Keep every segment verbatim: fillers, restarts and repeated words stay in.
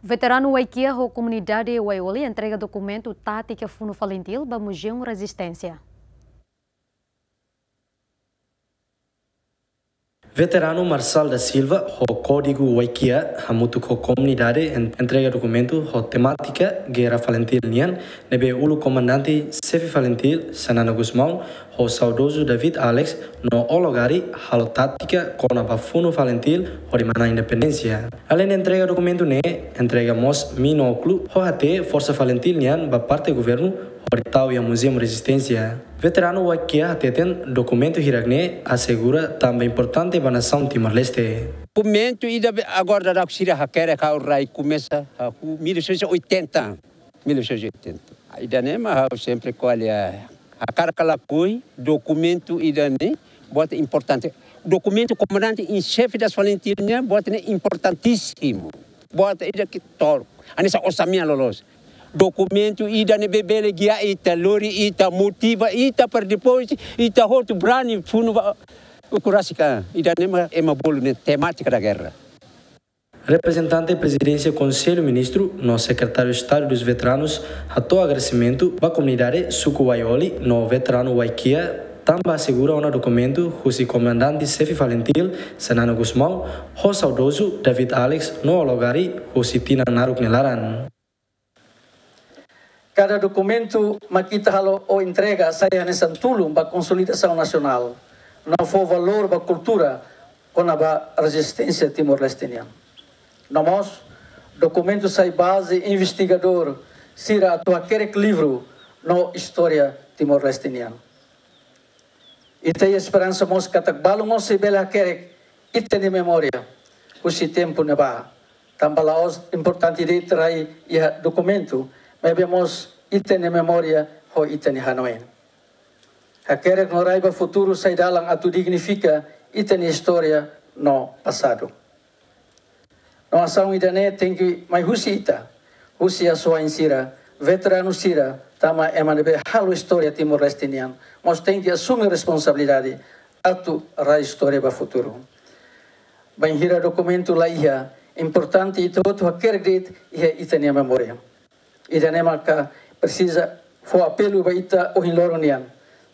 Veteranu Waikia ho komunidade Waioli entrega dokumentu tátika Funu Falintil ba Muzeu Rezisténsia. Veteranu Marçal da Silva ho kódigu Waikia hamutuk ho komunidade en-, entrega dokumentu ho temátika Guerra Falintil nian, ne'ebé uluk komandante xefe Falintil Xanana Gusmão ho saudozu David Alex no Ologari halo tátika kona-ba Funu Falintil hodi manán independénsia. Aleinde entrega dokumentu ne'e, entrega mós minókulu ho hatee Forsa Falintil nian ba parte governu hodi tau iha Muzeu Rezisténsia. Veteranu Waikia hateten dokumentu hirak-ne'e asegura tanba importante ba nasaun Timor-Leste. Dokumentu ida be agora daudaun sira hakerek ha'u rai komesa hahú mil novecentos e oitenta. Mil novecentos e oitenta. Ida-ne'e mak ha'u sempre ko'alia. Hakarak ka lakohi, dokumentu ida-ne'e buat importante. Dokumentu komandante em xefe das Falintil nian buat ne'e importantísimu. Buat ida ke tor. Hanesan osan-mean loloos. Dokumentu ida-ne'ebé bele gia ita, lori ita, motiva ita para depois ita hotu brani funu ba ukun rasik ka. Ida-ne'e mak ema bolu ne'e temática da guerra. Reprezentante Prezidénsia Konsellu Ministru no Sekretáriu Estadu dos Veteranus hato'o agradesimentu ba komunidade suku Waioli no veteranu Waikia tanba asegura ona dokumentu husi komandante xefe Falintil Xanana Gusmão ho saudozu David Alex no Ologari husi tinan naruk nia laran. Kada dokumentu mak ita halo ou entrega sai hanesan tulun ba konsolidasaun nasionál, no fó valór ba kultura kona-ba rezisténsia Timor-Leste nian. No mós, dokumentu sai baze investigadór sira atu hakerek livru no istória Timor-Leste nian. Ita iha esperansa mós katak balu mós sei bele hakerek ita-nia memória husi tempu ne'ebá. Tanba la'ós importante de'it rai iha dokumentu, maibé mós ita-nia memória ho ita-nia hanoin. Hakerek no rai ba futuru sai dalan atu dignifika ita-nia istória no pasadu. No asaun ida-ne'e tenke mai husi ita, husi asuwa'in sira, veteranu sira, tanba ema ne'ebé halo istória Timor-Leste nian, mós tenke asume responsabilidade atu rai istória ba futuru. Bainhira dokumentu la iha, importante ita hotu hakerek de'it iha ita-nia memória. Ida-ne'e maka presiza fó apelu ba ita ohin loron nian.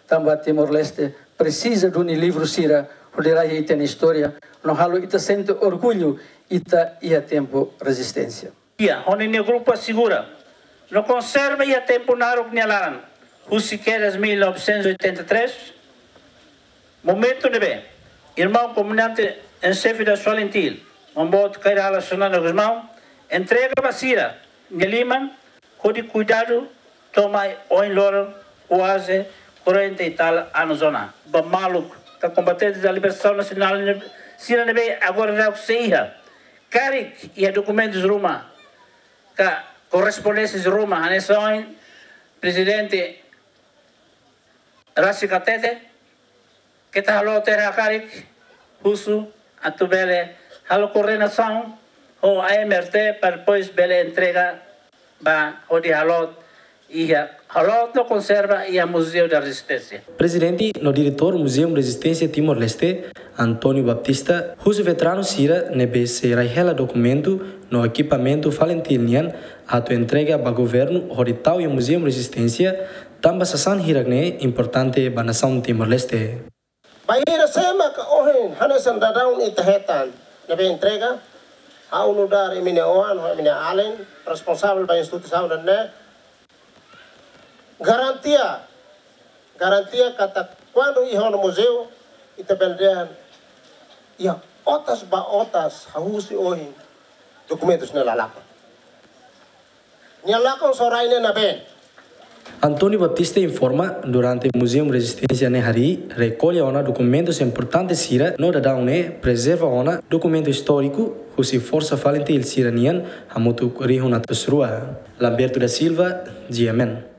Tanba Timor-Leste presiza duni livru sira hodi rai ita-nia istória, no halo ita sente orgullu ita iha tempu rezisténsia. Iha, ho ninia grupu asegura no konserva iha tempu naruk nia laran, husi kedas mil novecentos e oitenta e três, momentu ne'ebé irmaun komandante em xefe das Falintil, Maun Boot Kay Rala Xanana Gusmão, entrega ba sira nia liman, hodi kuidadu to'o mai ohin loron kuaze quarenta e tal anos ona. Ba maluk ka kombatente da libertasaun nasionál ne'e, sira ne'ebé agora daudaun sei iha karik iha dokumentus ruma ka korrespondénsias ruma, hanesan ohin Prezidente rasik hatete, keta halo tera karik husu atu bele halo koordenasaun ho A M R T para depois bele entrega ba hodi halo iha, halo no konserva iha Museu da Resistência. Prezidente no diretór Muzeu Rezisténsia Timor-Leste, António Baptista, husu veteranu sira ne'ebé sei rai hela dokumentu no ekipamentu Falintil nian atu entrega ba governu hodi tau iha Muzeu Rezisténsia, tanba sasán hirak-ne'e importante ba nasaun Timor-Leste. Bainhira sé maka ohin hanesan daudaun ita hetan ne'ebé entrega, ha'u nu'udar imi-nia oan, ho imi-nia alin, responsavel ba instituisaun ida-ne'e, garantia, garantia katak kuandu iha ona muzeu, ita bele dehan iha otas ba otas hahú husi ohin dokumentus ne'e la lakon. Nia lakon só rai ne'e nabeen. António Baptista informa, durante Muzeu Rezisténsia ne'e harii, rekolla ona dokumentus importante sira no daudaun ne'e prezerva ona dokumentu istóriku husi Forsa Falintil sira nian hamutuk rihun atus rua. Lamberto da Silva, G M N.